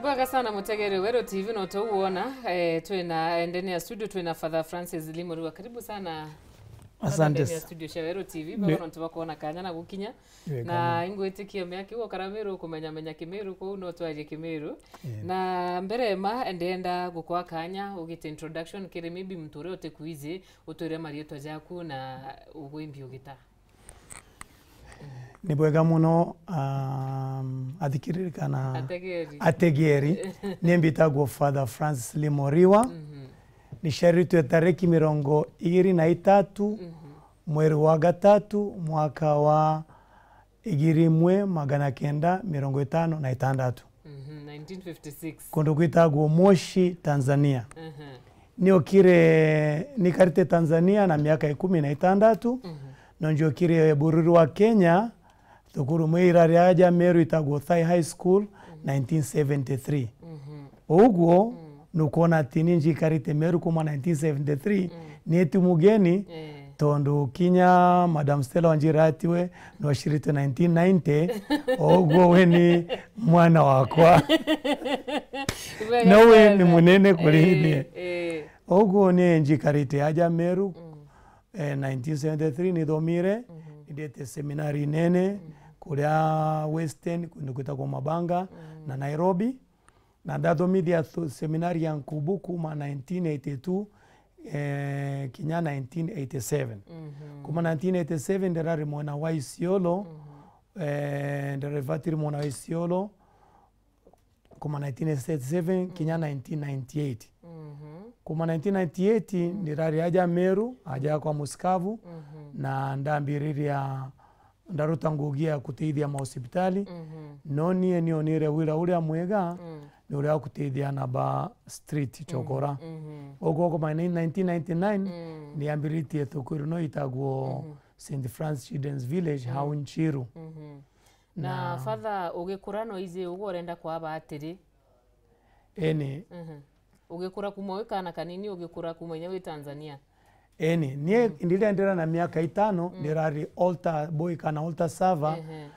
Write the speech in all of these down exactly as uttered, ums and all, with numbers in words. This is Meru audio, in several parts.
Bwega sana mutegeri Weru T V, no tuwona, eh, twina ndene ya studio, twina Father Francis Limuriwa. Karibu sana. Father, asante ndene ya s- studio cia Weru T V, ni- bwega nontu bwa kuona kanya na gukinya. Wega na muno. Ingwitikia miaki gukara Miru, kumenya menya Kimiru, kuu no twarie Kimiru. Yeah. Na mbere ma, ndienda gukwa kanya ugite introduction kiri maybe muntu uria utikwiji, utwire marietwa jaku na ugwimbi ugita. Ni bwega muno, um, athikiriri kana ategeri. Ategeri. Ni mbitagwo Father Francis Limoriwa. Mhm. Niciaritwe tariki mirongo igiri na itatu, mhm, mweri wa gatatu, mwaka wa igiri imwe magana kenda mirongo itano na itandatu. Mhm, nineteen fifty-six. Kundu gwitagwo Moshi, Tanzania. Mhm. Niokire, nikarite Tanzania na miaka ikumi na itandatu, mhm, no njokire bururi wa Kenya, thukuru imwe irari aja Meru itagwo Thai High School, mhm, nineteen seventy-three. Mhm. Uguo, mm, nukwona ati ni njikarite Meru kuma nineteen seventy-three, mm, ni ti mugeni, eh, tondu kinya Madam Stella Wanjira atiwe, no acirite nineteen ninety, uguo we ni mwana wakwa. Wega sana. No we ni munene kuri, eh, nie. Eh. Uguo ni njikarite aja Meru, mm, eh, nineteen seventy-three nithomire, mhm, nindite seminari nene, mm, kuria Western, kundu gwitagwo Mabanga, mm, na Nairobi. Na ndathomithia thu-, seminari ya Nkubu kuma nineteen eighty-two, eh, kinya nineteen eighty-seven. Mhm. Kuma nineteen eighty-seven ndirari mwena wa Isiolo, mhm, eh, ndirari vatiri mwena wa Isiolo, kuma nineteen eighty-seven kinya, mhm, nineteen ninety-eight. Mhm. Kuma nineteen ninety-eight, mhm, ndirari aja Meru, aja kwa Musikavu, mhm, na ndambiriria ndaruta ngugi ya kuteithia mahospitali. Mhm. No nie nionire wira uria mwega, mm, ni uria wa kuteithia ana ba street, mm, chokora. Mhm. Uguo kuma nineteen ninety-nine, mm, niambiritie thukuru no itagwo, mhm, Saint Francis Children's Village, mm, hau Nchiru. Mhm. Na, na Father, ugikura no iji uguo urenda kwaba atiri? Eni. Mhm. Ugikura kuma wi kana kanini, ugikura kuma inya wi Tanzania? Eni, nie, mhm, ndirendera na miaka itano, mm, ndirari altar boy kana altar server, ehe,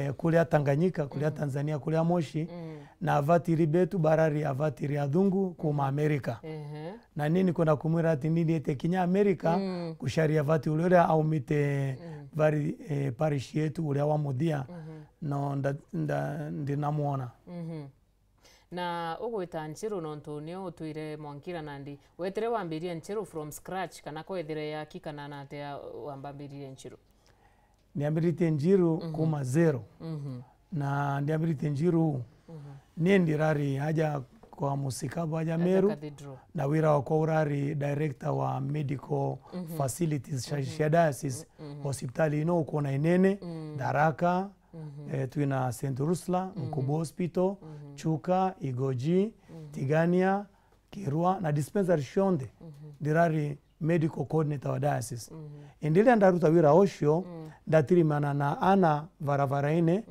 eh, kuria Tanganyika, kuria, mm, Tanzania, kuria Moshi, mm, na avatiri betu barari avatiri athungu kuma, mhm, Amerika. Ehe. Na nini kwenda kumwira ati nindite kinya Amerika, mm, gucaria avatiri uria aumite, mm, vari, eh, parish yetu uria wa muthia, mhm, no nda-, nda-, ndinamwona. Mhm. Na ugwita Nchiru nontu nio utwire mwankira nandi. Wetire wambiria Nchiru from scratch, kana kwethire yaki, kana natia wambambiririe Nchiru? Niambiritie Nchiru, mhm, kuma zero. Mhm. Na ndiambiritie Nchiru, mhm, nie ndirari aja kwa Musikabu aja, aja Meru, Cathedral. Na wira wakwa urari director wa medical, mhm, facilities cia, mhm, cia diocese, mhm, hospitali ino ukwona inene, mm, Tharaka, mhm, eh, twina Saint Ursula, mhm, Nkubu Hospital, mhm, Chuka, Igoji, mhm, Tigania, Kirua, na dispensary cionthe. Mhm. Ndirari medical coordinator wa diocese. Mhm. Indi riria ndaruta wira ucio, mm, ndatirimana na ana barabara-ini, mm,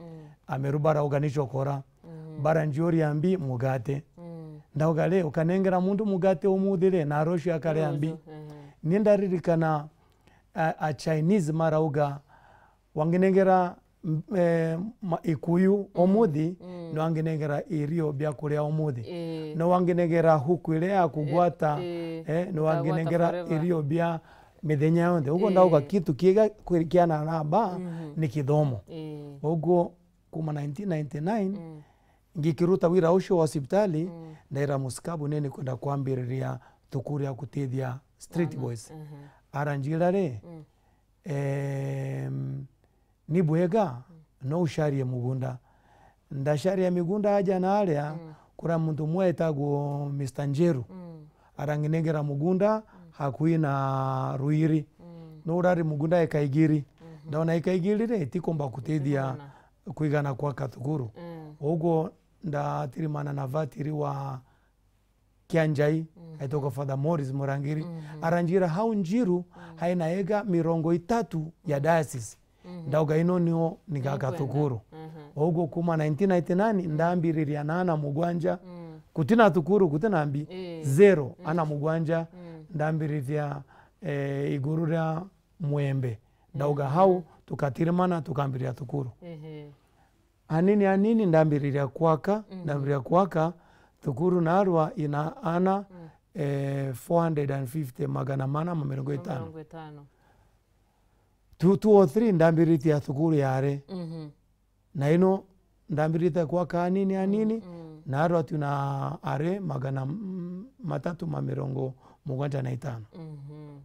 Ameru barauga ni chokora. Mhm. Baranjioria mbi mugate. Mm. Ndauga, ri, ukanengera muntu mugate umuthi ri, na rucio akaria mbi? Rucio, mhm. Ni ndaririkana a, a Chinese marauga, wanginengera, m-, eh, ma-, ikuyu, mm, umuthi, mm, no wanginengera irio bia kuria umuthi. Ii. No wanginengera huku iria ya kugwata, eh, eh, no wanginengera forever. Irio bia mithenya yonthe. Uguo, ii, ndauga kitu kiega kwi-, kiana araba, mhm, ni kithomo. Ii. Uguo kuma nineteen ninety-nine, mm, ngikiruta wira ucio wa hospitali, mm, ndaira Musikabu, ni nikwenda kwambiriria thukuru ya gutethia street boys. Aha. Aranjira ri, mm, em, ni bwega, mm, no ucarie mugunda. Ndacaria migunda aja na aria, mm, kuria muntu umwe etagwo Mister Njeru. Mm. Aranginengera mugunda, mm, hakui na Ruiri. Mm. No urari mugunda eka igiri. Mhm. Ndaona eka igiri ri, itikumba kutethia, itikumana, kwigana kwaka thukuru. Mm. Uguo ndatirimana na vatiri wa Kianjai, mm, aitagwa Father Morris Murangiri. Mhm. Aranjira hau Njiru, mm, haina ega mirongo itatu ya diocese. Mhm. Ndauga ino nio nigaka, nikwenda, thukuru. Mhm. Uguo kuma nineteen ninety-nine, mm, ndambiriria na ana mugwanja. Mm. Gutina thukuru, gutina mbi. Ii. Zero, mm, ana mugwanja. Mm. Ndambiriria, eh, iguru ria Mwembe. Ndauga, mhm, hau, tukatirimana, tukambiriria thukuru. Ehe. Anini anini ndambiriria kwaka, ndambiriria kwaka, thukuru naarua ina ana, eh, four hundred and fifty, magana mana ma mirongo itano. Mirongo itano. Two, two oh three ndambiritie ya thukuru ya are. Mhm. Na ino ndambiritie kwaka anini anini, naarua tu na are magana, mm, matatu ma mirongo mugwanja na itano. Mhm.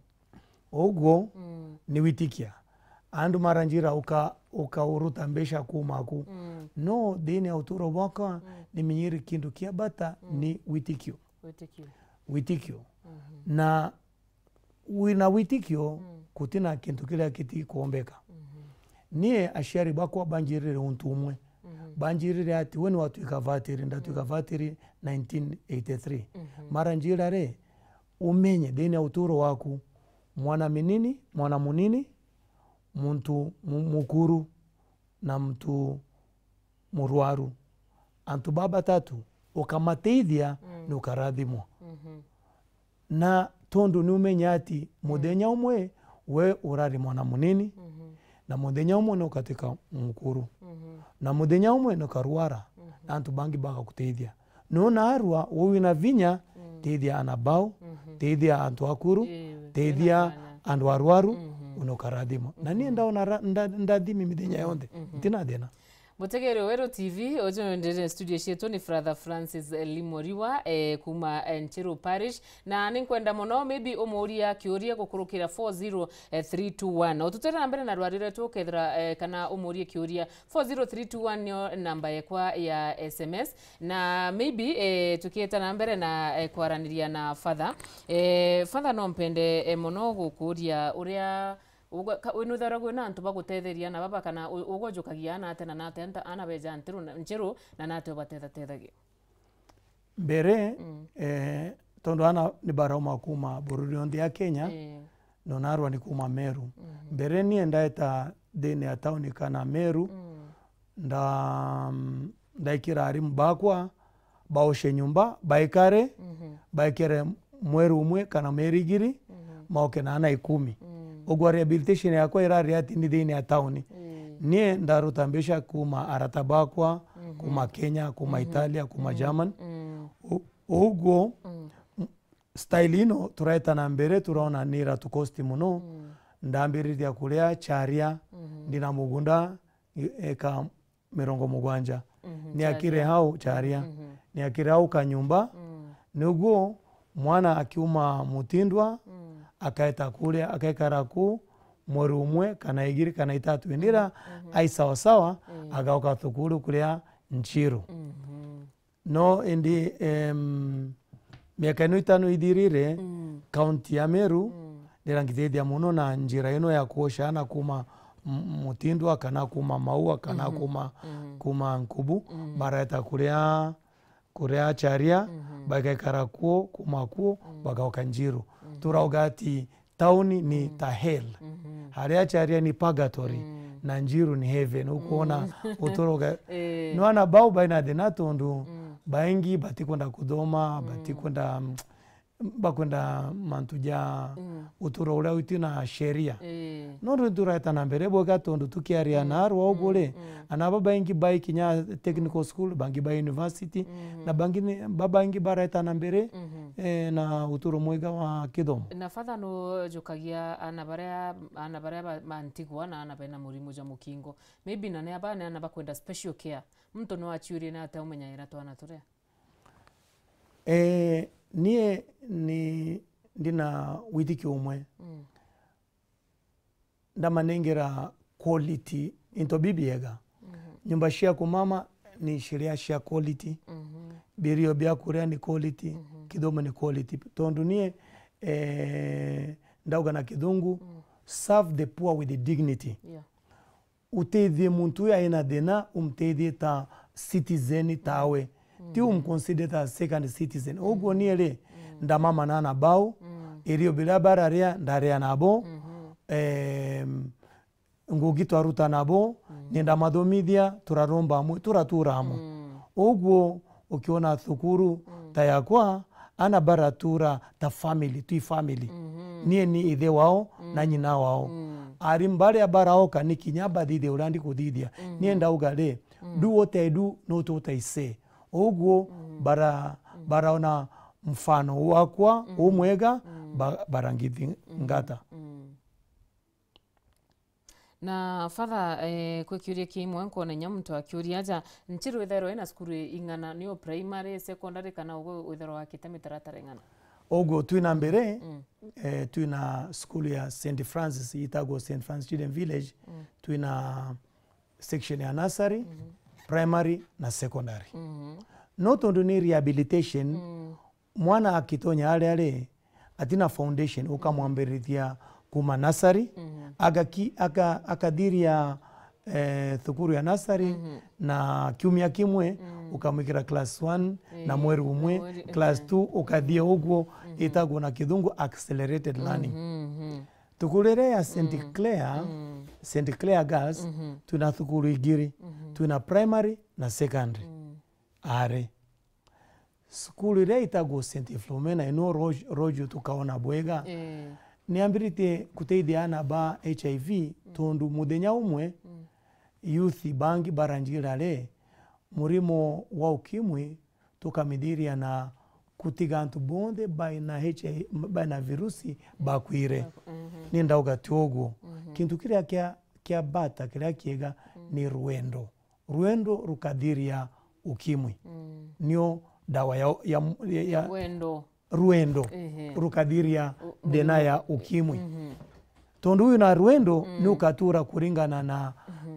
Uguo ni witikia. Andu maranjira, "Uka, uka uruta mbeca kuuma ku." No, thiini ya uturo bwakwa, nimenyire kintu kia bata ni witikio. Witikio. Witikio. Na wina witikio, gutina kintu kiria gitikuombeka. Nie aciari bakwa banjirire untu umwe. Banjirire ati, we ni watwika vatiri, ndatwika vatiri nineteen eighty-three. Maranjira ri, umenye thiini ya uturo waku, mwana minini, mwana munini, muntu mu-, mukuru, na muntu murwaru. Antu baba batatu, ukamateithia, ni ukarathimwa. Na tondu ni umenya ati muthenya umwe we urari mwana munini, na muthenya umwe ni ukatwika mukuru, na muthenya umwe ni ukarwara, na antu bangi bagakuteithia. Nona arua, we wina vinya, teithia ana bau, teithia antu akuru, teithia andu arwaru, ni ukarathimwa. Na nie ndaona ra-, nda-, ndathimi mithenya yonthe. Ntina thina. Mutegeri wa Weru T V, uju ndiri studio cietu ni Brother Francis, eh, Limoriwa, eh, kuma, eh, Nchiru Parish. Na ninkwenda muno maybe umuuria kiuria gukurukira four zero three two one. Ututwire na mbere na rwari rwetu ukethira, eh, kana umuurie kiuria. Four zero three two one niyo namba yekwa ya S M S. Na maybe, eh, tukieta na mbere na, eh, kwaraniria na Father. Eh, Father, no mpende, eh, muno gukuuria uria Ugwe-, ka-, winutharagwe na antu bagutetheria na baba, kana u-, ugojukagia ana ate na nate nta-, ana beja ntiru na, nchiru na nate ubatethatethagia? Mbere, eh, tondu ana ni barauma kuma bururi yonthe ya Kenya, eh, no narua ni kuma Meru. Mbere nie ndaeta thiini ya tauni kana Meru, nda-, ndaikira arimu bakwa, baoce nyumba, baikare, baikare mweri umwe kana mieri igiri, maoke na ana ikumi. Ugwa rehabilitation yakwa irari ati ni thiini ya tauni. Nie ndaruta mbeca kuma arata bakwa, kuma Kenya, kuma Italia, kuma German. U-, uguo, m-, style ino turaeta na mbere, turaona ni iratu cost muno. Ndambiriria kuria charia, ndina mugunda, eka mirongo mugwanja. Niakire hau charia. Niakire hau kanyumba. Niguo mwana akiuma Mutindwa, akaeta kuria, akaikara ku mweri umwe, kana igiri, kana itatu. Indira ai sawa sawa, agaoka thukuru kuria Nchiru. No indi, em, miaka ino itano ithirire, kaunti ya Meru nirangithithia muno na njira ino ya kuoca ana kuma M-, Mutindwa, kana kuma Maua, kana kuma, kuma Nkubu, bareta kuria, kuria Charia, bagaikara kuo, kuma kuo, bagaoka Njiru. Turauga ati tauni ni ta hell. Haria Charia ni purgatory, na Njiru ni heaven. Ukuona uturo ga-, eh, no ana bau baina thina tondu baingi batikwenda kuthoma, batikwenda, mm, bakwenda mantu ja uturo uria uti na sheria. Eh. Nondu ntureta na mbere bwega tondu tukiaria na arwa ugu ri, ana babaingi bai kinya technical school, bangi bai university, na bangi ni, babaingi bareta na mbere, eh, na uturo mwega wa kithomo. Na Father, nujukagia ana baria, ana baria ba-, bantigwa na ana bena murimo jwa mukingo. Maybe na ni aba ni ana bakwenda special care. Muntu no aciurie na ate umenyagira twana turia? Eh, nie ni ndina withikio umwe. Ndamanengera quality into bibiega. Nyumba cia kumama ni ciria cia quality. Birio bia kuria ni quality. Kithomo ni quality. Tondu nie, eh, ndauga na kithungu, serve the poor with dignity. Yeah. Utethie muntu uyu aina thina, umtethie ta citizen tawe. Ti umconsider ta second citizen. Uguo nie ri, ndamama na ana bau, irio biria bararia, ndaria nabo, em, ngugi twaruta nabo, ni ndamathomithia, turaromba amwe, turatura amwe. Uguo ukiona thukuru ta yakwa, ana baratura ta family, twi family. Nie ni ithe wao na nyina wao. Arimu baria baraoka ni kinya bathithie uria ndikuthithia. Nie ndauga ri, Do what I do, not what I say. Uguo bara-, baraona mfano wakwa umwega, ba-, barangithingata. Na Father, eh, kwi kiuria kimwe nkwona inya muntu akiuria aja, nchi rwithairwa ina cukuru ing'ana, ni o primary, secondary, kana ugu withairwa wakite mitaratara ing'ana? Uguo twina mbere, eh, twina cukuru ya Saint Francis, itagwo Saint Francis Children Village, twina section ya nursery, primary na secondary. No tondu ni rehabilitation, mwana akitonya aria ari, atina foundation, ukamwambiriria kuma nursery, agaki-, aka-, akathiria, eh, thukuru ya nursery, na kiumia kimwe ukamwikira class one, na mweri umwe, class two, ukathia uguo, itagwo na kithungu accelerated learning. Thukuru iria ya Saint Clare, Saint Clare Girls, twina thukuru igiri, twina primary na secondary. Ari. Cukuru iria itagwo Saint Philomena, ino Roju tukaona bwega, niambiritie kuteithia ana ba H I V, tondu muthenya umwe youth bangi baranjira ri, murimo wa ukimwi tukamithiria na kutiga antu bonthe baina H I V, baina virusi bakwire. Ni ndauga ti uguo. Kintu kiria kia, kia bata, kiria kiega ni rwendo. Rwendo rukathiria ukimwi. Nio dawa ya, ya, ya, ya rwendo. Rwendo rukathiria thina ya ukimwi. Tondu wina rwendo, ni ukatura kuringana na,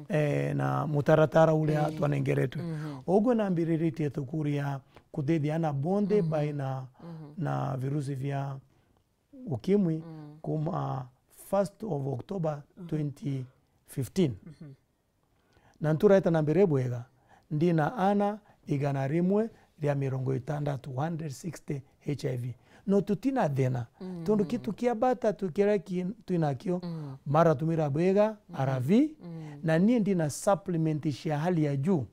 eh, na mutaratara uria twanengeretwe. Uguo nambiriritie thukuru ya kuteithia ana bonthe baina na virusi vya ukimwi kuma first of October twenty fifteen. Na ntureta na mbere bwega, ndina ana igana rimwe ria mirongo itandatu, one hundred sixty H I V. No tutina thina. Tondu kitu kia bata tu-, kiria ki-, twinakio, maratumira bwega, A R V, na nie ndina supplement cia hali ya juu.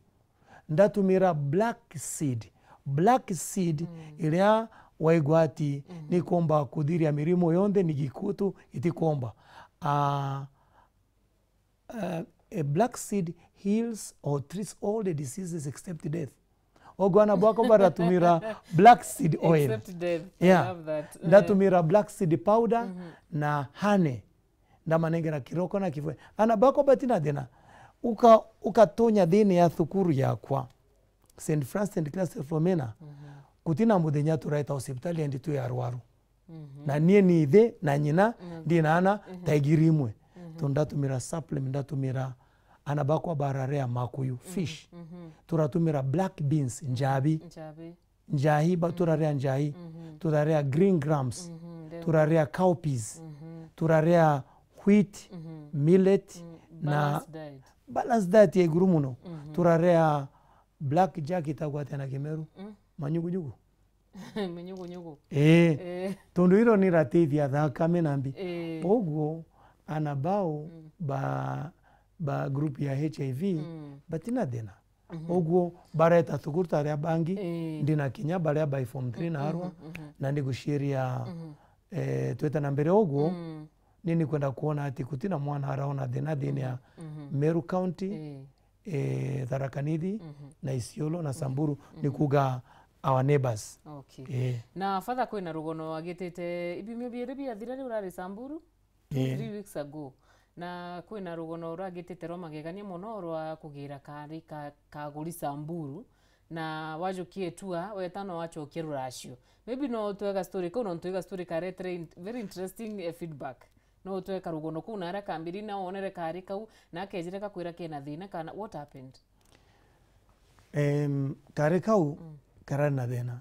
Ndatumira black seed. Black seed iria waigua ati nikomba kuthiria mirimo yonthe, ni gikutu itikomba. Ah, Uh, a black seed heals or treats all the diseases except death. Ogo ana bwako baratumira black seed oil. Except death. I love that. Eh. Ndatumira black seed powder na honey. Ndamanengera kiroko na kifwe. Ana bako batina thina. Uka-, ukatonya thini ya thukuru yakwa. Saint Francis and Clare Philomena. Gutina muthenya turaeta hospitali endi twi arwaru. Na nie ni ithe na nyina, ndina ana ta igiri imwe. Tondu ndatumira supplement, ndatumira, ana bakwa bararea makuyu, fish. Turatumira black beans, njabi. Njahi, ba turarea njahi. Turarea green grams. Turarea cowpeas. Turarea wheat, millet, na balanced diet ya iguru muno. Turarea black jack itagwa atia na Kimeru? Manyugunyugu. Minyugunyugu. Ii. Tondu iro ni irateithia thakame na mbi. Ii. Koguo, ana bao ba, ba group ya H I V, batina thina. Koguo, bareta thukuru ta aria bangi, ndina kinya baria bai form three na arwa, na ni guciria, eh, tweta na mbere uguo, ni nikwenda kwona ati gutina mwana araona thina thiini ya Meru County, eh, Tharaka Nithi, na Isiolo, na Samburu, ni kuuga our neighbours. Okay. Eh. Na Father, kwina rugono agitite ibimio biiri biathira riu urari Samburu? Eh. Three weeks ago. Na kwina rugono ruragitite rwa magegania mono rwa kugira kaari ka, kaguri Samburu. Na wajukie tour, weta no wacokie ruracio. Maybe no utwega story kau, nontu iga story karetere in-, very interesting, eh, feedback. No utwe karugono kuu na aria kambiri na wonere kaari kau, na akejire gakwira kena thina kana what happened? Em, kaari kau karari na thina.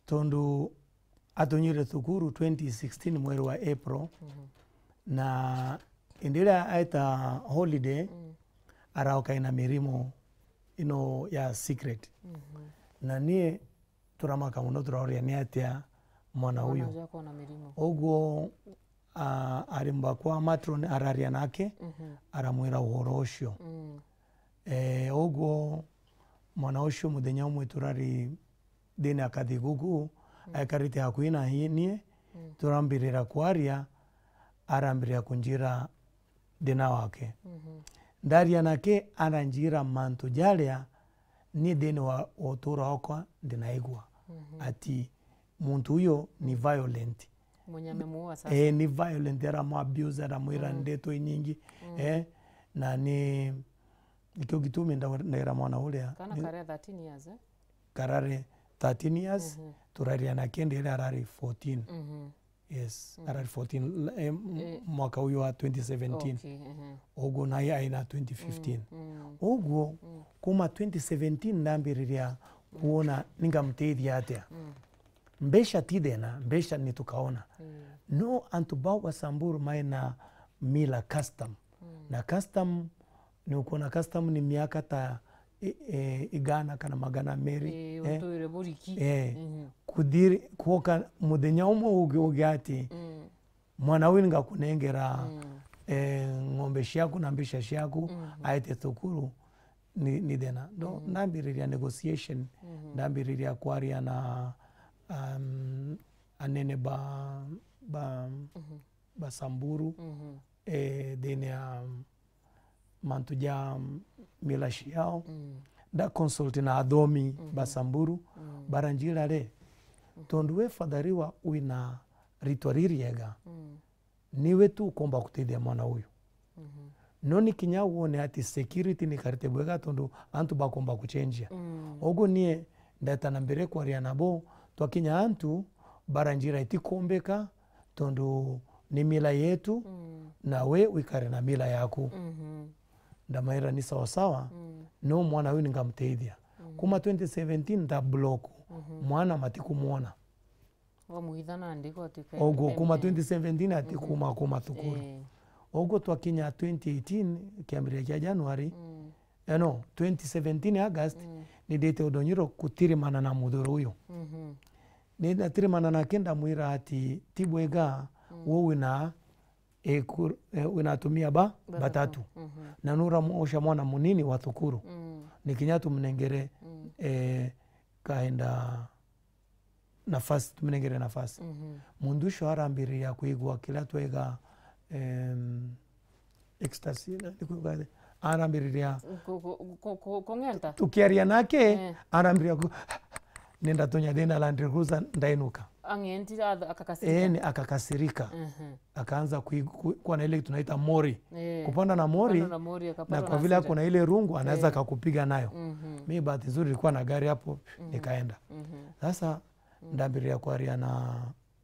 Tondu atunyire thukuru twenty sixteen mweri wa April, na indi iria aeta holiday, araoka ina mirimo ino ya secret. Na nie turamaka mono, turaoria ni atia mwana uyu. Mwana uyu akona mirimo. Uguo, a, ari mbakwa matron araria nake, aramwira uhoro ucio. Eh, uguo mwana ucio muthenya umwe turari thiini ya kathigugu, aikarite hakuhi na nie, turambirira kwaria, arambirira kunjira thina wake. Ndaria nake aranjira mantu jaria ni thiini wa, wa utuuro wakwa ndinaigua. Mhm. Ati muntu uyu ni violent. Mwenye amemuua sasa. Eh, ni violent, aramu abuse, aramwira, mm, ndeto inyingi. Mm. Eh, na ni, nikio gitumi nda-, ndaira mwana uria. Kana ni karia thirteen years, eh? Karari thirteen years, mhm, turaria na kindi iria arari fourteen. Mhm. Yes, mm, arari fourteen, l-, eh, m-, eh, mwaka uyu wa twenty seventeen. Okay, mhm. Uguo naye aina twenty fifteen. Mm, mm. Uguo, mm, kuma twenty seventeen ndambiriria, mm, kuona ningamutethia atia. Mm. Mbeca ti thina, mbeca ni tukaona. Mm. No antu bau ba Samburu mai na mila custom. Mm. Na custom, ni ukuona custom ni miaka ta i-, i-, igana kana magana meri, eh, eh? Utuire buriki. Eh. Mhm. Kuthiri, kuoka muthenya umwe ugi, ugi ati, mm, mwana uyu ngakunengera, mm, eh, ng'ombe ciaku na mbeca ciaku, mhm, aete thukuru, ni, ni thina. Ndo, mhm, ndambiriria negotiation, mhm, ndambiriria kwaria na, um, anene ba, ba, mhm, ba Samburu, mhm, eh, thiini ya mantu ja mila ciao. Mm. Nda consult na athomi, mhm, ba Samburu, mm, baranjira ri, mhm, tondu we Father Riwa wina ritwa ririega, mm, niwe tu ukomba gutethia mwana uyu. Mhm. No ni kinya wone ati security ni karite bwega tondu antu bakomba kuchenjia. Mm. Uguo nie ndeta na mbere kwaria nabo, twakinya antu baranjira itikumbika, tondu ni mila yetu, mm, na we wikare na mila yaku. Mhm. Ndamaira ni sawa sawa, mm, no mwana uyu ningamutethia. Mm. Kuma twenty seventeen nda block, mhm, mwana matikumwona. Wamuitha nandi gotwika. Oguo kuma twenty seventeen ati, mhm, kuma, kuma thukuru. Eh. Oguo twakinya twenty eighteen, kiambiriria kia January, mm, eh, no, twenty seventeen August, mm, ni ndite Udonyiro kutirimana na muthuri uyu. Mhm. Ni ndatirimana nake ndamwira ati, ti bwega, mm, we wina, eh, kur-, eh, wina atumia ba, batatu. Batatu. Mhm. Na nuramwosha mwana munini wa thukuru. Mm. Ni kinya tumnengere, mm, eh, kaenda nafasi, tumnengere nafasi. Mhm. Muntu ucio arambiriria kwigua kiria twega, em, ecstasy, na, ni kuuga, arambiriria ku-, ku-, ku-, ku-, kung'enta? Tukiaria nake, eh, arambiriria ku-, nenda tunya thina Land Cruiser, ndainuka. Ang'entire, ath-, akakasirika. Eeni, akakasirika. Mhm. Akaanza kui-, ku-, kuwa na ile tunaita mori. Eh. Kupanda na mori, kupanda na mori, na akapatwa kwa na vile hasira. Ako na ile rungu, anaweza, eh, akakupiga nayo. Mhm. Mi bahati nzuri nilikuwa na gari hapo, mhm, nikaenda. Mhm. Sasa, mm, ndambiriria kwaria na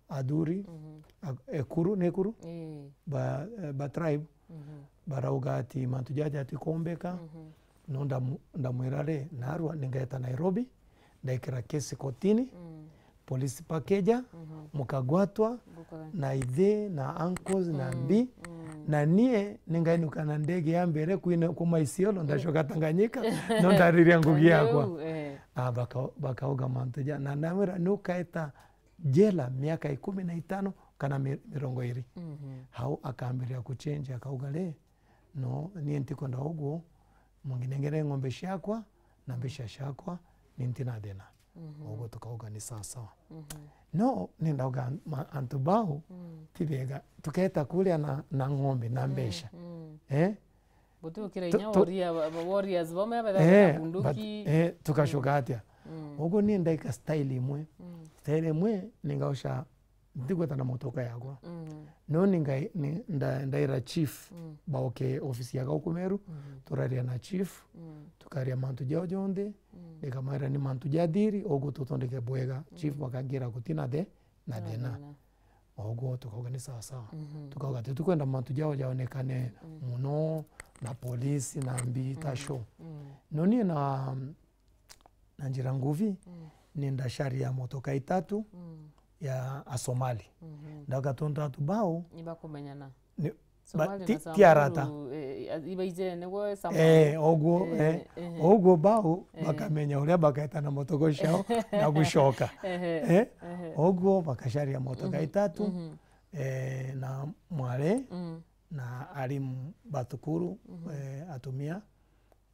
athuri, mhm, a-, ekuru, ni ekuru? Eh. Ba, eh, ba tribe, mhm, barauga ati mantu jaja atikombeka, mhm, no ndamu-, ndamwira ri, narua ningeta Nairobi, ndaikira kesi kotini, mm, polisi pakeja, mhm, mukagwatwa, guka- na ithe, na uncles, na, mm, mbi, mm, na nie ningainuka na ndege ya mbere kwina kuma Isiolo, ndacoka Tanganyika, no ndariria ngugi yakwa. Riu, eh. Ah, baka-, bakauga mantu ja, na ndamwira, nukaeta jela miaka ikumi na itano kana mi-, mirongo iri. Mhm. Hau akambiria kuchenja, akauga, ri, no, nie ntikwenda uguo, munginengere ng'ombe ciakwa na mbeca ciakwa, ni ntina thina. Mhm. Uguo tukauga ni sawa sawa. Mhm. No, ni ndauga ma-, antu bau, mm, ti bega. Tuketa kuria na, na ng'ombe na, mm, mbeca. Mm. Eh? Guti ukira tu-, inya tu-, warrior, wa-, wa-, warriors bamwe bethaga, eh, na bunduki. But, eh, tugacoka, mm, atia? Mm. Uguo nie ndaika style imwe. Mm. Style imwe, ningauca, ntigweta na motoka yakwa. Mm. No ningai-, ni-, nda-, ndaira chief, mm, baoke ofisi ya gauku Meru, mm, turaria na chief, mm, tukaria mantu jao jonthe, mm, ndikamaira ni mantu ja thiri, uguo tutondeke bwega. Chief, mm, bakangira gutina the-, na, na thina. Thina. Oguo tukauga ni sawa sawa. Mhm. Tukauga tutikwenda mantu jao jaonekane, mm, muno na polisi na mbi ta, mm, show. Mm. No nie na, na njira nguvi, mm, ni ndacaria motoka itatu, mm, ya Asomali. Mhm. Ndauga tontu antu bau ni bakumenyana. Ni, Somali ba-, na ti, ti Samburu, arata. Eh, ibaije niguo Somali. Eh, oguo, eh, eh, eh, oguo bau, eh, bakamenya uria bakaeta na motoka ciao na gucoka. Ehe, eh, ehe. Oguo bakacaria motoka, mhm, itatu, mhm, eh, na mwari, mm, na arimu ba thukuru, mhm, eh, atumia,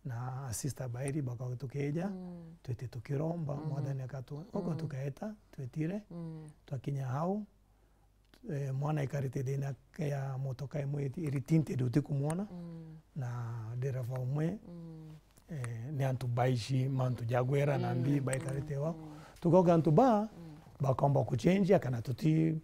na sister bairi bakauga tukija, mm, twite tukiromba, mhm, Mwathani akatu-, oguo, mm, tukaeta, twetire, mm, twakinya hau, eh, mwana aikarite thiina ya motoka imwe iri tinted utikumwona, Mm. na ndereva umwe, Mm. eh, ni antu baici mantu jagwera na mbi Mm. baikarite wao. Mm. Tukauga antu ba, Mm. bakomba kuchenjia kana tuti,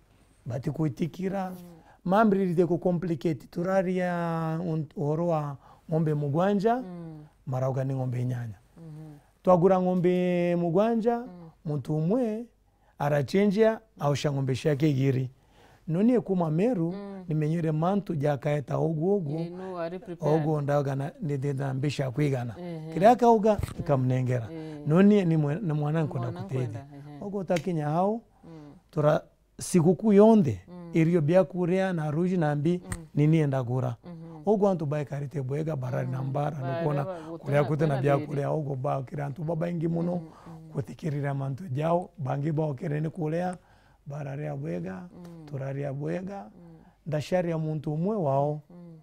batikwitikira. Mm. Mambiriritie ku complicate, turaria unt-, uhoro wa ng'ombe mugwanja, Mm. marauga ni ng'ombe inyanya. Mhm. Twagura ng'ombe mugwanja, Mm. muntu umwe arachenjia, aucia ng'ombe ciake igiri. No nie kuma Meru, Mm. nimenyire mantu jakaeta ugu ugu, Ii, no ari prepared. ugu ndauga na, ni ndina mbeca kwigana. Ehe. Kiria akauga, nkamnengera. Ehe. No nie ni mwe-, ni mwana nkwenda Mwana kuteithia. nkwenda, ehe. Ugu utakinya hau, Mm. tura, siguku yonthe, Mm. irio bia kuria na ruji na mbi, Mm. ni nie ndagura. Mhm. Ugu antu baikarite bwega, barari na Mm. mbara, Bara nukona ba-, kuria gutena, kuti na gutena bia thiri. kuria, ugu bakira antu babaingi muno, Mm, mm. guthikirira mantu jao, bangi baokire ni kuria, bararia bwega, Mm. turaria bwega, Mm. ndacaria muntu umwe wao, Mm.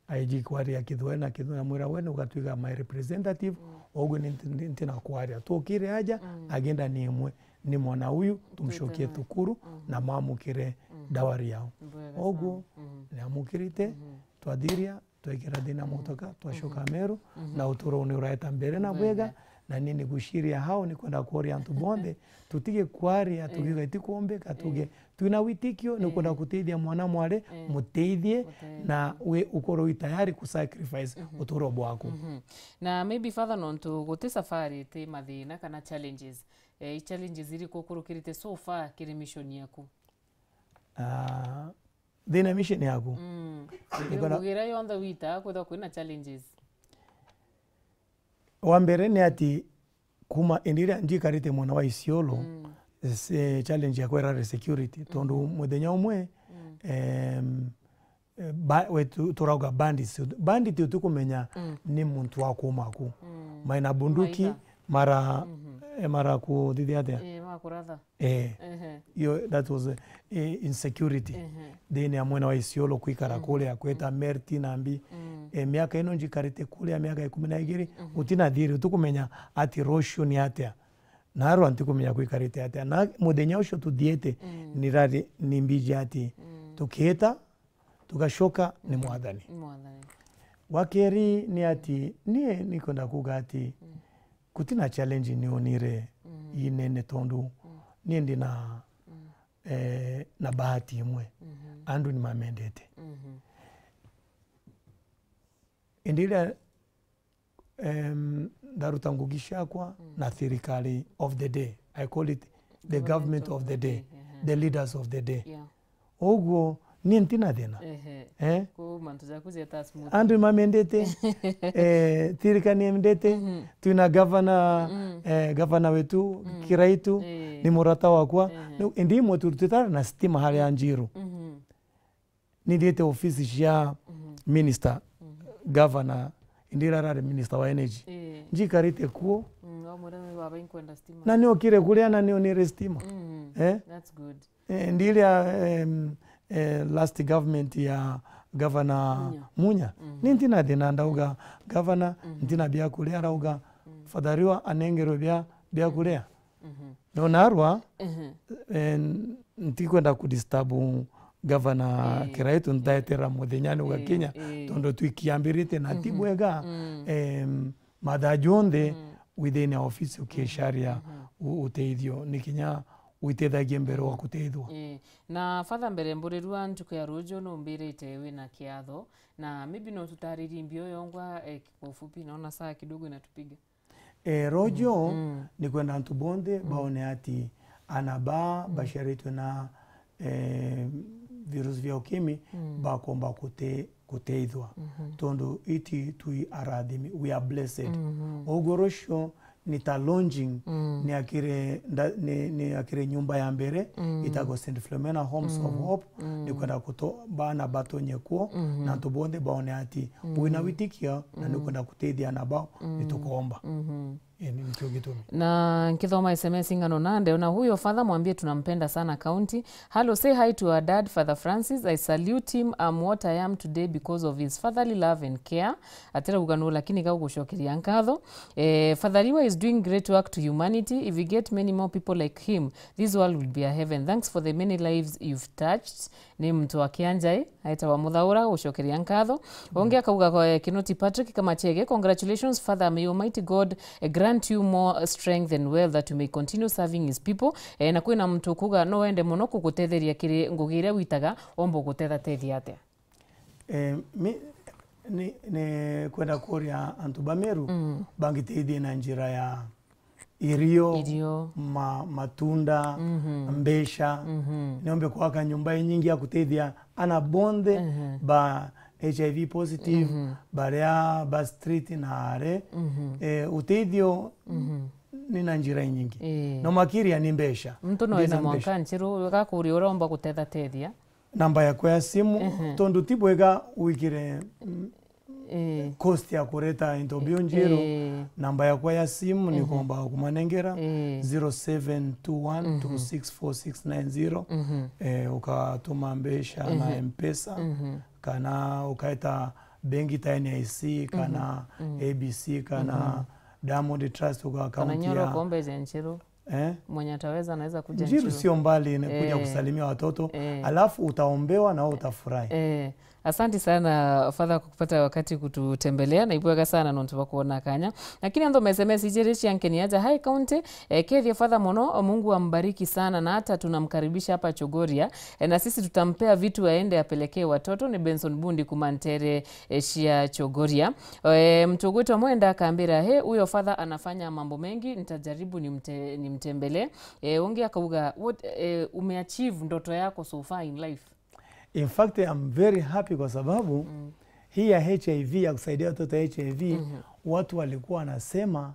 aiji kwaria Kithweri na Kithweri, namwira, "We ni ugatwika my representative, Mm. ugu ni nti-, nti-, ntina kwaria." Tukire aja, Mm. agenda ni imwe, ni mwana uyu, tumcokie Twite na thukuru, Mm. na mamukire Mm. dawari yao. Bwega Ugu, sana. Mm. niamukirite, Mm. twathiria, twekira thina Mm. motoka, twacoka Mm. Meru, Mm. na uturo ni uraeta mbere na Bwega. bwega, na ni niguciria hao ni kwenda kuria antu bonthe, tutige kwaria, Eh. tukiuga itikumbika, tuge Eh. twina witikio, ni Eh. kwenda kuteithia mwana mwari, Eh. muteithie, Muteithie. na we ukorwo wi tayari ku sacrifice Mhm. uturo bwaku. Mhm. Na maybe Father, nontu guti safari iti mathina kana challenges, eh, i challenges iriku ukurukirite so far kiri mission yaku? Ah, thina mission yaku? Mm. Nikona Ngugira yonthe wita kwithwa kwina challenges. Wa mbere ni ati, kuma indi iria njikarite mwena wa Isiolo, Mm. se-, challenge yakwa irari security, tondu Mm. muthenya umwe, Mm. em, eh, ba-, we tu-, turauga bandits. Bandit utikumenya Mm. ni muntu wa kuuma aku. Mm. Maina bunduki, Maitha. mara, Mhm. eh, mara kuthithia atia? Eh, makuratha. Eh. Ehe. Yo, that was, eh, insecurity. Ehe. Thiini ya mwena wa Isiolo kwikara Mm. kuria kweta Mm. Merti na mbi. Mm. Eh, miaka ino njikarite kuria miaka ikumi na igiri, Mhm. gutina thiri, utikumenya ati rucio ni atia. Narua ntikumenya kwikarite atia. Na muthenya ucio tuthiete, Mm. nirari ni mbiji ati Mm. tukiita, tugacoka ni Mm. Mwathani. Ni Mwathani. Wa keri ni ati, nie nikwenda kuuga ati Mm. gutina challenge nionire Mm. inene tondu Mm. nie ndina, Mm. eh, na bahati imwe. Mhm. Andu ni mamendete. Mhm. Indi iria, em, ndaruta ngugi ciakwa Mm. na thirikari of the day, I call it the Government government of of the the day, day, ehe. the leaders of the day. Yeah. Uguo, nie ntina thina. Ehe. Eh? Ku mantu jaku jeta smooth. Andu mamendete, eh, thirikari niendete, Mhm. twina governor, Mm. eh, governor wetu, Mm. Kiraitu, Eh. ni murata wakwa. Ehe. Ni, indi imwe tu-, tutari na stima haria Njiru. Mhm. Nithiite ofisi cia Mhm. minister, Mhm. governor, indi iria arari minister wa energy. Eh. Njikarite kuo. Mm, wamwira ni baba inkwenda stima. Na niokire kuria na nionire stima. Mm. Eh? That's good. Eh, ndiria, em, eh, last government ya Governor Munya. Munya. Mhm. Ni ntina thina ndauga, "Governor, Mhm. ntina bia kuria," arauga, Mm. "Father Riwa anengerwe bia, bia kuria." Mhm. No narua, Mhm. eh, ntikwenda kudisturb Governor Eh. Kiraitu, ntaetera muthenya ni Eh, ugakinya, eh. tondu twikiambirite na ti Mm. bwega, Mm. em, mathaa jonthe Mm. within our office ukicaria Mhm. u-, uteithio, ni kinya witethagie mbere wa kuteithwa. Eh, na Father, mbere mburirua ntuku ya ruju numbirite wina kiatho, na maybe no tutaririe mbio yongwa, eh, kwa ufupi, naona saa kidogo inatupiga. Eh, rojo, Mm, mm. ni kwenda antu bonthe Mm. baone ati ana baa Mm. baciaritwe na, eh, virusi vya ukimwi Mm. bakomba kute-, kuteithwa. Mhm. Tondu iti twi arathimi, we are blessed. Mhm. Uguo rucio ni ta launching, Mm. ni akire nda-, ni, ni akire nyumba ya mbere, Mm. itagwo Saint Philomena Homes of Mm. Hope, Mm. ni kwenda kuto-, bana batonye kuo, Mhm. na antu bonthe baone ati Mm. wina witikio, na ni Mm. kwenda kuteithia ana bao, Mm. ni tukomba. Mhm. Ĩĩ, ni, nikio gitumi. Na nkithoma S M S ing'ano na ndeona, "Huyo father mwambie tunampenda sana county. Hello, say hi to our dad, Father Francis. I salute him. I'm what I am today because of his fatherly love and care." Atirauga no, lakini gaugucokeria nkatho. Eh, Father Liwa is doing great work to humanity. If we get many more people like him, this world will be a heaven. Thanks for the many lives you've touched. Ni muntu wa Kianjai, aitawa Muthaura, gucokeria nkatho. Ungi akauga, kwa, eh, Kinoti Patrick Kamachege, "Congratulations, Father. May Almighty God, eh, grant you more strength and wealth that you may continue serving his people." Eh, na kwina muntu ukuga no wende muno kugutetheria kiri ngugi iria witaga, omba gutethateithia atia? Eh, mi, ni, ni kwenda kuria antu ba Meru, mm, bangiteithie na njira ya irio, irio, ma-, matunda, mhm, mbeca. Mhm. Niombe kwaka nyumba inyingi ya kuteithia ana bonthe, mhm, ba H I V positive, mhm, baria ba street na are. Mhm. Eh, uteithio, mhm, ni na njira inyingi. Ii. No makiria ni mbeca. Muntu no ndina eze mbeca. Mwanka nchiru, gakuria uria omba gutethateithia. Namba yakwa ya simu, ehe, tondu ti bwega wikire, mm, ii, cost ya kureta into bio njiru. Ii. Namba yakwa ya simu, ehe, nikomba kumanengera, ii, zero seven two one two six four six nine zero. Mhm. Eh, ukatuma mbeca na, ehe, M-Pesa, mhm, kana ukaeta bengi ta N I C, kana, mhm, A B C, kana, mhm, Diamond Trust, uka account ya, kana nyoro kombe je nchiru. Eh? Mwenye ataweza anaweza kuja njiru nchiru. Sio mbali, ni kuja, eh, kusalimia watoto, eh, alafu utaombewa na wewe utafurahi. Eh, asanti sana Father kwa kupata wakati kututembelea, na ibwega sana nontu bwa kuona kanya. Lakini ando message ijiri cia nkeni aja, "Hi county, eh, kethia Father mono, Mungu ambariki sana, na hata tunamkaribisha hapa Chogoria, eh, na sisi tutampea vitu aende apelekee watoto." Ni Benson Bundi kuma Ntere, eh, cia Chogoria. Eh, mtu ugwitwa Mwenda akambira, "He, huyo father anafanya mambo mengi, nitajaribu nimte-, nimtembelee." Eh, ungi akauga, "What, eh, umeachieve ndoto yako so far in life?" In fact, I'm very happy kwa sababu, mm, hii ya H I V, ya kusaidia watoto wa H I V, mhm, watu walikuwa wanasema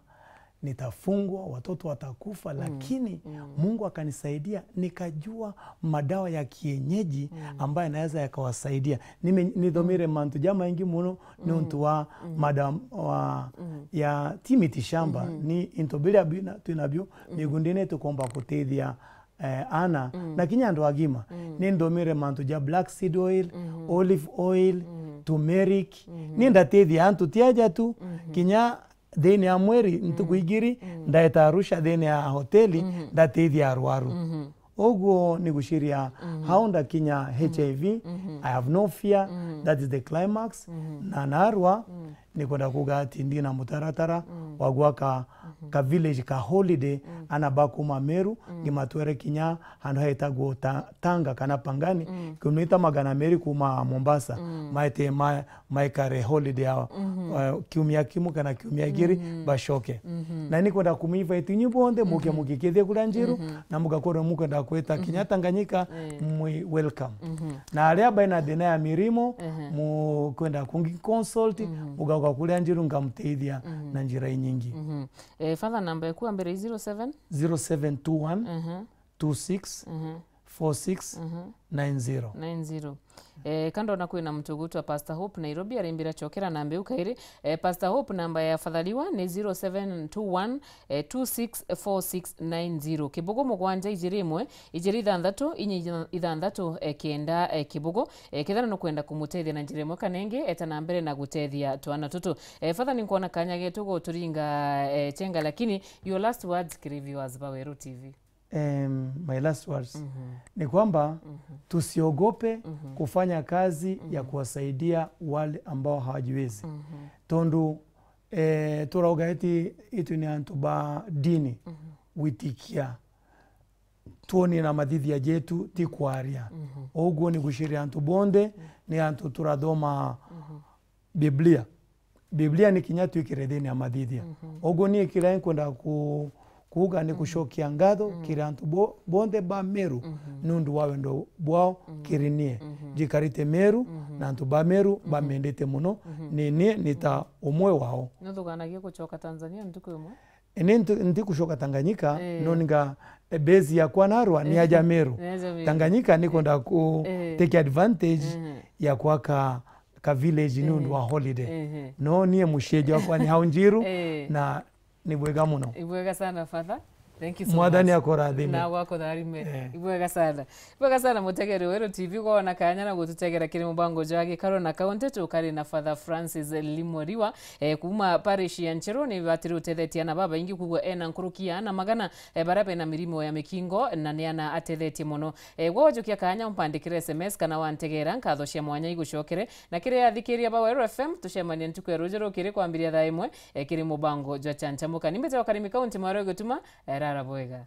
nitafungwa, watoto watakufa, mm, lakini, mm, Mungu akanisaidia, nikajua madawa ya kienyeji, mm, ambayo yanaweza yakawasaidia. Nime-, nithomire, mm, mantu jamaingi muno, mm, nontu wa, mm, madawa wa, mm, ya ti miti shamba, mm-hmm, ni into biria bina-, twinabio, mm-hmm, migundine tukomba kutethia, eh, ana, mm, na kinya andu agima. Mm. Ninthomire mantu ja black seed oil, mm-hmm, olive oil, mm-hmm, turmeric. Mm-hmm. Ni ndatethia antu ti aja tu, mm-hmm, kinya thiini ya mweri, mm, ntuku igiri, mm, ndaeta Arusha thiini ya hoteli, mhm, ndatethia arwaru. Mhm. Uguo ni guciria, mhm, hau ndakinya, mhm, H I V, mhm, I have no fear, mhm, that is the climax. Mhm. Na narwa, mm, ni kwenda kuga ati ndina mutaratara, mm, wa gwaka, mhm, ka village ka holiday, mm, ana ba kuma Meru, mm, ngimatwere kinya handu hetagwo Ta-, Tanga kana Pangani, mm, kilomita magana meri kuma Mombasa, mm, maete ma-, maikare holiday yao, mhm, eh, kiumia kimwe kana kiumia igiri, mhm, bacoke. Mhm. Na ni kwenda kuminvite inyu bonthe muke, mhm, mugikithie kuria Njiru, mhm, na mugakorwo mukwenda kwita, mhm, kinya Tanganyika, eh, mwi welcome. Mhm. Na aria baina thina ya mirimo, ehe, mukwenda kungi consult, mhm, mugauka kuria Njiru ngamteithia, mhm, na njira inyingi. Mhm. Eh, Father, namba yaku ya mbere i zero seven? Zero seven two one, mhm, two six, mhm, four six, mhm, nine zero. Nine zero. Eh, kando na kwina muntu ugwitwa Pastor Hope Nairobi, arimbira chokera namba iu kairi. Eh, Pastor Hope, namba ya Father Liwa ni zero seven two one, eh, two six four six nine zero. Kibugu mugwanja ijiri imwe, ijiri ithanthatu, inya ithanthatu, eh, kenda, eh, kibugu. Eh, kethira nukwenda kumutethia na njira imwe kana ingi, eta na mbere na gutethia twana tutu. Eh, Father, ninkwona kanya getu guturinga, eh, chenga, lakini your last words kiri viewers ba Weru T V. Em, my last words, mhm, ni kwamba, mhm, tusiogope, mhm, kufanya kazi ya, mhm, kuwasaidia wale ambao hawajiwezi. Mhm. Tondu, eh, turauga eti itu ni antu ba dini, mhm, gwitikia tuonie na mathithia jetu ti kwaria. Mhm. Uguo ni guciria antu bonthe, mhm, ni antu turathoma, mhm, Biblia. Biblia ni kinya twikire thiini ya mathithia. Mhm. Uguo nie kiria nkwenda ku-, kuuga ni, mhm, gucokia ngatho, mhm, kiri antu bo-, bonthe ba Meru, mhm, niundu wa wendo bwao, mhm, kiri nie. Mhm. Njikarite Meru, mhm, na antu ba Meru, mhm, bamendete muno, mhm, ni nie ni ta, mhm, umwe wao. Nuthuganagia gucoka Tanzania ntuku imwe? Ni ntu-, ntikucoka Tanganyika, eh, no ninga, eh, base yakwa narwa ni, eh, aja Meru. Ni aja Meru. Tanganyika nikwenda ku, eh, take advantage, eh, ya kwaka ka village, eh, niundu wa holiday. Eh. No nie mucii jwakwa ni hau Njiru, eh, na Ni bwega muno. Ibwega sana, Father. Thank you so Mwathani much. Akurathime. Nawe akutharime. Eh. Ibwega sana. Ibwega sana, mutegeri weru T V, kwona kanya na gututegera kiri mubango jwa gikaro na kaunti. Tukari na Father Francis Limoriwa, eh, kuma parish ya Ncheru. Ni batiri utethetie ana babaingi, kugwa ena nkuruki ya ana magana, eh, baria bena mirimo ya mikingo, na ni ana atethetie muno. Eh, gwe wajukia kanya, umpandikire S M S kana wantegera, nkatho cia mwanya igucokere. Na kiri athikiria ba Weru F M, tucemanie ntuku ya ruju rukiri kwambiria thaa imwe, eh, kiri mubango jwa Chanchamuka. Ni mbite wa Karimi County, mwaro igutuma, eh, rara bwega.